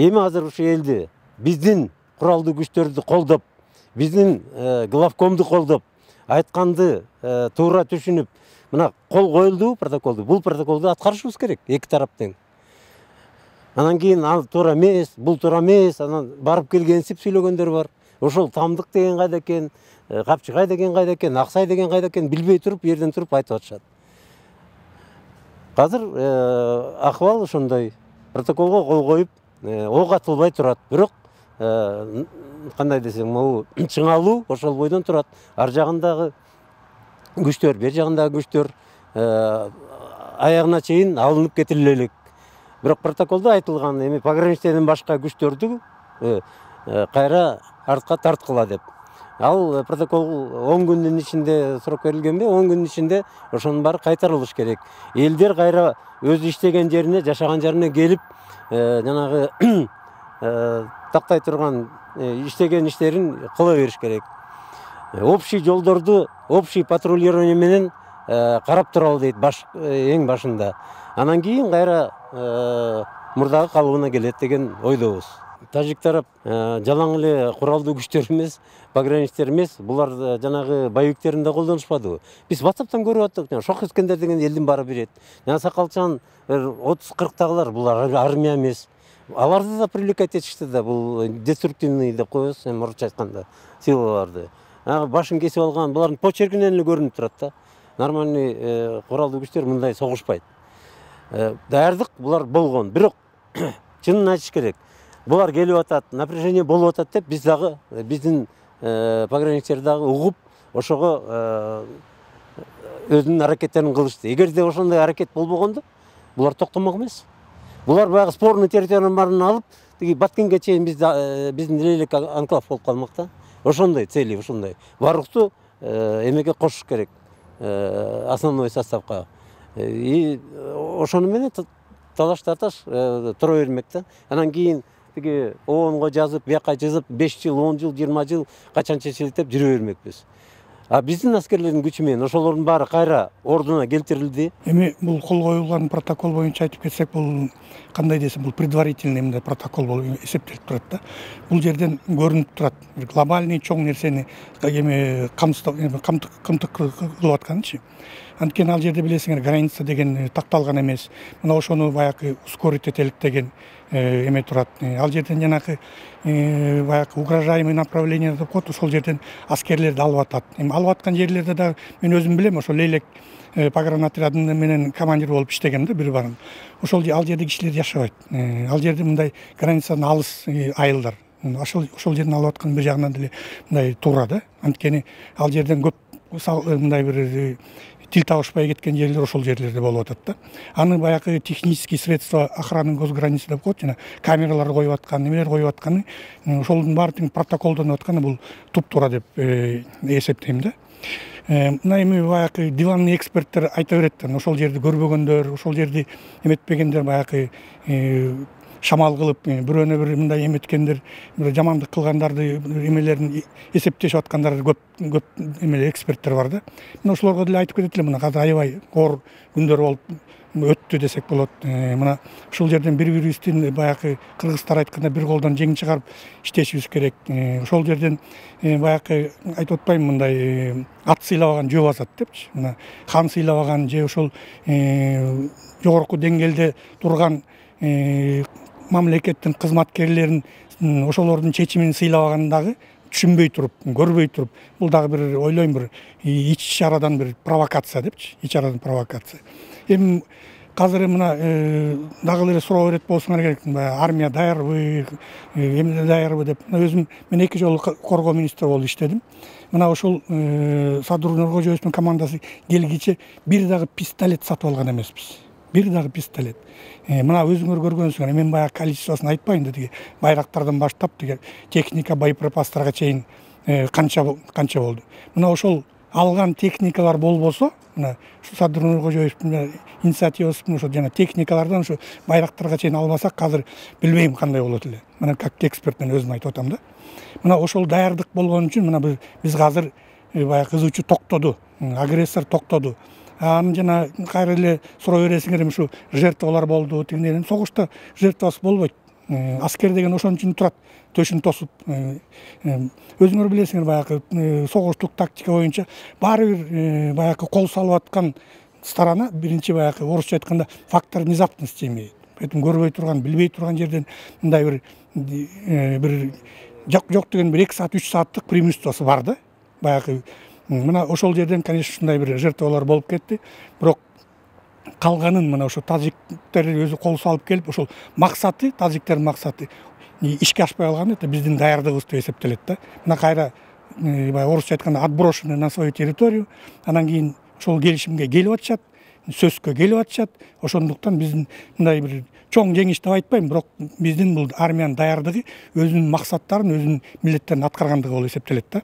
эми азыр ушу элди биздин куралдуу күчтөрдү колдоп, биздин главкомду колдоп, айтканды туура түшүнүп, мына кол коюлду протоколду. Бул протоколду аткарышыбыз керек эки тарап тең. Анан кийин ал туура эмес, бул туура эмес, анан барып келгенсип сүйлөгөндөр бар. Ошол Тамдык деген кайда экен, Капчыгай деген кайда экен, Аксай деген кайда экен билбей туруп, жерден туруп айтып атышат. Азыр акыбал ошондой. Протоколго кол коюп, ок атылбай турат. Бирок кандай десем, могу чыңалуу ошол бойдон турат. Ар жагындагы күчтөр, бер жагындагы күчтөр аягына чейин алынып кетириле элек. Бирок протоколдо айтылган эми пограничныйдан башка күчтөрдү кайра артка тарткыла деп. Ал протокол 10 күндүн ичинде срок берилгенби, 10 күндүн ичинде ошонун баары кайтарылыш керек. Элдер кайра өз иштеген жерине, жашаган жерине келип, жанагы тактай турган иштеген иштерин кыла бериш керек. Общий жолдорду, общий патрулирование менен карап туралы дейт эң башында. Анан кийин кайра мурдагы калыбына келет деген ойдобуз. Тажик тарап жалаң эле куралдуу күчтөр эмес, пограничтер эмес, булар жанагы боевиктерин да колдонушпадыбы? Биз WhatsApp'тан көрүп аттык. Шок Искендер деген элдин баары берет. Жана Сакалчан 30-40тагылар булар армия эмес. Аларды да привлекать этишти да, бул деструктивный деп коебуз, эми орусча айтканда, силаларды. Башын кесип алган, булардын почеркинен эле көрүнүп турат да. Нормальный куралдуу күчтөр мындай согушпайт. Даярдык булар болгон, бирок чынын айтыш керек. Булар келип атат, напряжение болуп атат деп, биз дагы биздин пограничтер дагы угуп, ошого өзүнүн аракеттерин кылышты. Эгерде ошондой аракет болбогондо, булар токтомок эмес. Булар баягы спорный территориянын баарын алып, тиги Баткенге чейин биздин элек анклав болуп калмак да. Ошондой цели, ошондой. Барлыкту эмеге кошуш керек, основной составка. И ошону менен талаш тарташ тура бермек да. Анан кийин тиги ООНго жазып, бияка жазып, 5 жыл, 10 жыл, 20 жыл качанча шилтеп жүрө бермекпиз. А биздин аскерлердин күчү менен ошолордун баары кайра ордуна келтирилди. Эми бул кол коюлган протокол боюнча айтып кетсек, бул кандай десем, бул предварительный мындай протокол болуп эсептелип турат да. Бул жерден көрүнүп турат. Глобальный чоң нерсени эми камтык кылып атканычы. Анткени ал жерде билесиңер, граница деген такталган эмес. Мына ошону баягы ускорить этелик деген эме турат. Ал жерден жанагы баягы угрожаемый направление деп коет, ошол жерден аскерлерди алып атат. Эми алып аткан жерлерде да мен өзүм билем, ошол Лейлек погранотрядын менен командир болуп иштегем да бир барын. Ошол ал жерде кишилер жашабайт. Ал жерде мындай границадан алыс айылдар. Ошол жерден алып аткан бир жагынан деле мындай туура да. Анткени ал жерден көп мындай бир тил табышпай кеткен жерлер ошол жерлерде болуп атат да. Аны баягы технический средства охраны госграницы деп коет, жана камералар коюп аткан, немелер коюп атканы, ошолдун баарын протоколдонуп атканы бул туп-туура деп эсептейм да. Мына эми баягы диванный эксперттер айта берет да, ошол жерди көрбөгөндөр, ошол жерди эметпегендер баягы шамал кылып, бирөөнө бир мындай эметкендер, бир жамандык кылгандарды эмелерин эсептешип аткандар көп эмелер эксперттер бар да. Мына ошолорго деле айтып кетет элем, мына азыр аябай оор күндөр болуп өттү десек болот. Мына ушул жерден бири-бирибиздин баягы кыргыздар айтканда бир колдон жең чыгарып иштешибиз керек. Ошол жерден баягы айтып атпайм, мындай ат сыйлабаган жөө басат депчи. Мына хан сыйлабаган же ошол жогорку деңгээлде турган мамлекеттин кызматкерлерин ошолордун чечимин сыйлабаган дагы түшүнбөй туруп, көрбөй туруп, бул дагы бир ойлойм бир ич арадан бир провокация депчи, ич арадан провокация. Эми азыр мына дагы эле суроо берет болсоңор керек, армия даярбы, эмне даярбы деп. Өзүм мен 2 жолу коргоо министри болуп иштедим. Мына ошол Садыр Нуркожоевдун командасы келгиче бир дагы пистолет сатып алган эмеспиз. Бир дагы пистолет. Мына өзүңөр көргөнсүңөр, мен баягы количествосын айтпайын да, тиги байрактардан баштап тиги техника, боеприпастарга чейин канча болду. Мына ошол алган техникалар болбосо, мына Садыр Нуркожоевдун инициативасы ошо жана техникалардан ошо байрактарга чейин албасак, азыр билбейм кандай болот эле. Мына как эксперт мен өзүм айтып атам да. Мына ошол даярдык болгон үчүн мына биз азыр баягы кызуучу токтоду, агрессор токтоду. Анан жана кайра эле суроо бересиңер, ушу жертвалар болду, тигинен согушта жертвасы болбойт. аскер деген ошон үчүн турат, төшүн тосуп. Өзүңөр билесиңер, баягы согуштук тактика боюнча баары бир баягы кол салып аткан сторона биринчи баягы орусча айтканда фактор внезапности эми. Поэтому көрбөй турган, билбей турган жерден мындай бир жок деген бир 2 саат 3 сааттык преимуществосу бар да. Баягы мына ошол жерден, конечно, ушундай бир жертвалар болуп кетти. Бирок калганын мына ошо тажиктер өзү кол салып келип, ошол максаты, тажиктердин максаты ишке ашпай калган, это биздин даярдыгыбыз деп эсептелет да. Мына кайра баягы орусча айтканда отброшены на свою территорию, анан кийин ошол келишимге келип атышат, сөзгө келип атышат. Ошондуктан биздин мындай бир чоң жеңиш деп айтпайм, бирок биздин бул армиянын даярдыгы өзүнүн максаттарын, өзүнүн милдеттерин аткаргандыгы болуп эсептелет да.